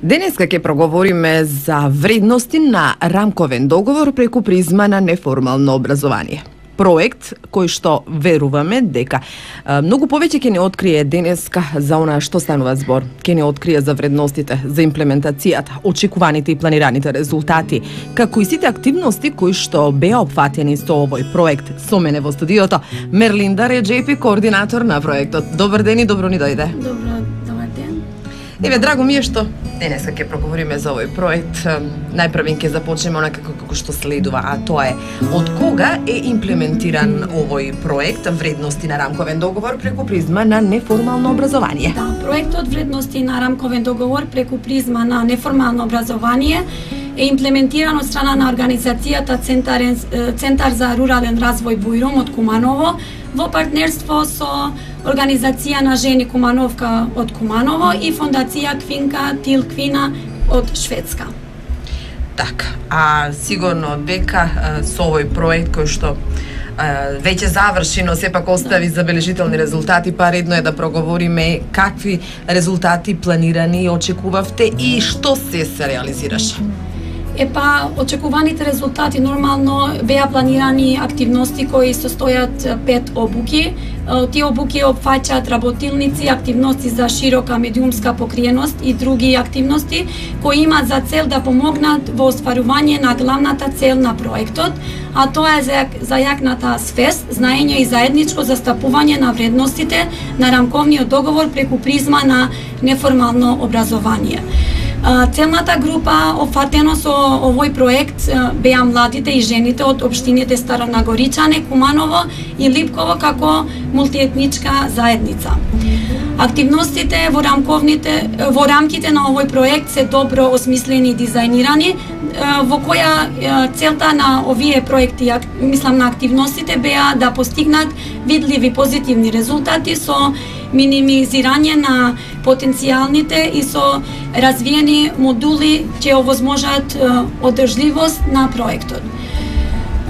Денеска ќе проговориме за вредности на рамковен договор преку призма на неформално образование. Проект кој што веруваме дека многу повеќе ќе ни открие денеска за она што станува збор. Ќе ни открие за вредностите, за имплементацијата, очекуваните и планираните резултати, како и сите активности кои што беа опфатени со овој проект. Со мене во студиото Мерлинда Реджепи, координатор на проектот. Добар ден и добро ни дојде. Добар ден. Еве, драго ми е што денеска ќе проговориме за овој проект. Најпрвен ќе започнеме онака како што следува, а тоа е од кога е имплементиран овој проект вредности на рамковен договор преку призма на неформално образование. Да, проектот вредности на рамковен договор преку призма на неформално образование е имплементиран од страна на организацијата Центар за рурален развој Бујрум од Куманово во партнерство со Организација на жени Кумановка од Куманово и Фондација Квинка Тил Квина од Шведска. Така, а сигурно дека со овој проект кој што веќе заврши, но сепак остави забележителни резултати, па редно е да проговориме какви резултати планирани и очекувавте и што се реализираше. Очекуваните резултати нормално беа планирани активности кои состојат 5 обуки. Тие обуки опфаќаат работилници, активности за широка медиумска покриеност и други активности кои имаат за цел да помогнат во остварување на главната цел на проектот, а тоа е зајакната свест, знаење и заедничко застапување на вредностите на рамковниот договор преку призма на неформално образование. Целната група опфатено со овој проект беа младите и жените од општините Старонагоричане, Куманово и Липково како мултиетничка заедница. Активностите во рамките на овој проект се добро осмислени и дизајнирани, во која целта на овие проекти, мислам на активностите, беа да постигнат видливи позитивни резултати со минимизирање на потенцијалните и со развиени модули ќе овозможат одржливост на проектот.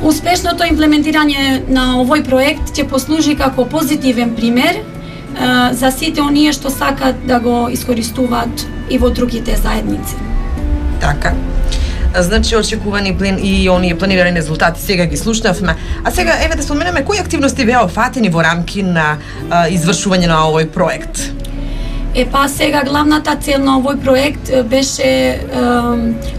Успешното имплементирање на овој проект ќе послужи како позитивен пример за сите оние што сакат да го искористуваат и во другите заедници. Така. Значи очекувани и оние планирани резултати сега ги слушнавме. А сега еве да споменеме кои активности беа офатени во рамки на извршување на овој проект. Сега главната цел на овој проект беше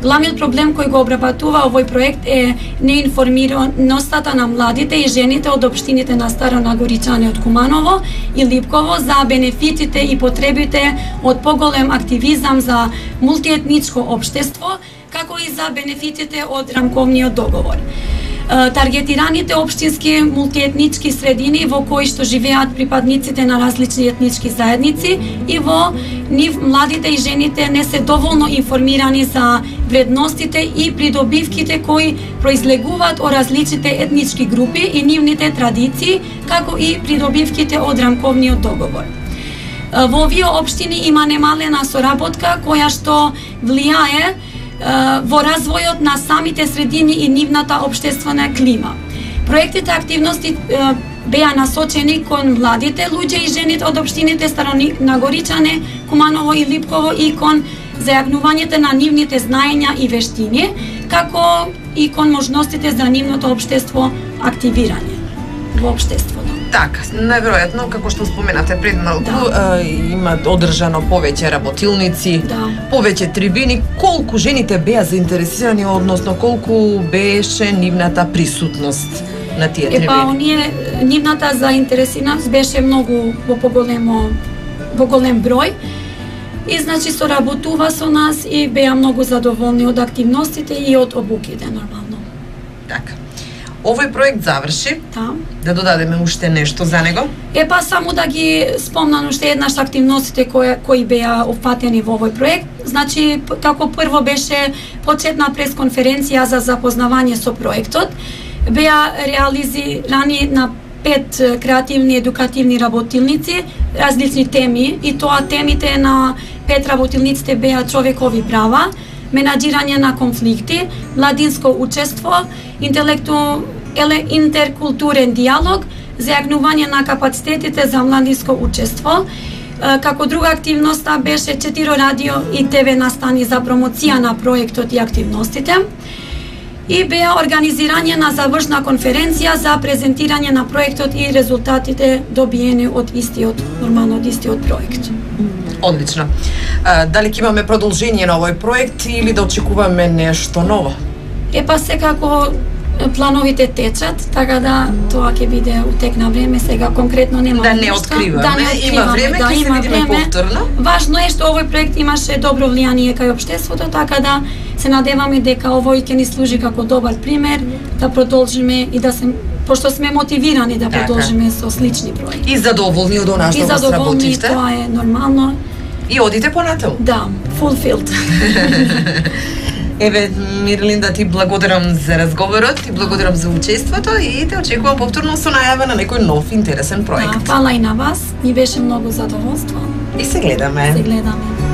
главниот проблем кој го обработува овој проект е неинформираноста на младите и жените од општините на Старонагоричане од Куманово и Липково за бенефитите и потребите од поголем активизам за мултиетничко општество, како и за бенефитите од рамковниот договор. Таргетираните општински мултиетнички средини во кои што живеат припадниците на различни етнички заедници и во нив младите и жените не се доволно информирани за вредностите и придобивките кои произлегуваат од различните етнички групи и нивните традиции, како и придобивките од рамковниот договор. Во овие општини има немалена соработка која што влијае во развојот на самите средини и нивната општествена клима. Проектите активности беа насочени кон младите луѓе и жените од општините Старонагоричане, Куманово и Липково и кон зајагнувањето на нивните знаења и вештини, како и кон можностите за нивното општество активирање во општеството. Така, најверојатно, како што споменате пред малку, има одржано повеќе работилници, повеќе трибини. Колку жените беа заинтересирани, односно колку беше нивната присутност на тие трибини? Нивната заинтересираност беше многу во голем број и значи соработува со нас и беа многу задоволни од активностите и од обуките нормално. Така. Овој проект заврши. Да додадеме уште нешто за него? Само да ги спомнам уште еднаш активностите кои беа опфатени во овој проект. Значи, како прво беше почетна пресконференција за запознавање со проектот. Беа реализирани на 5 креативни едукативни работилници, различни теми, и тоа темите на 5 работилниците беа човекови права, менаџирање на конфликти, младинско учество, интеркултурен диалог, зајагнување на капацитетите за младинско учество, Како друга активноста беше 4 радио и ТВ настани за промоција на проектот и активностите. И беа организирање на завршна конференција за презентирање на проектот и резултатите добиени од истиот проект. Одлично. Дали ќе имаме продолжение на овој проект или да очекуваме нешто ново? Секако плановите течат, така да тоа ќе биде утек на време, сега конкретно нема да не откриваме, има време, ќе се видиме повторно. Важно е што овој проект имаше добро влијание кај општеството, така да се надеваме дека овој ќе ни служи како добар пример, да продолжиме и да се пошто сме мотивирани да продолжиме со слични проекти. И задоволни од она што го сработивте. И тоа е нормално. И одите понатаму. Да, fulfilled. Еве, Мирлинда, ти благодарам за разговорот, ти благодарам за учеството и те очекувам повторно со најава на некој нов интересен проект. Фала и на вас, ни беше многу задоволство. И се гледаме. Се гледаме.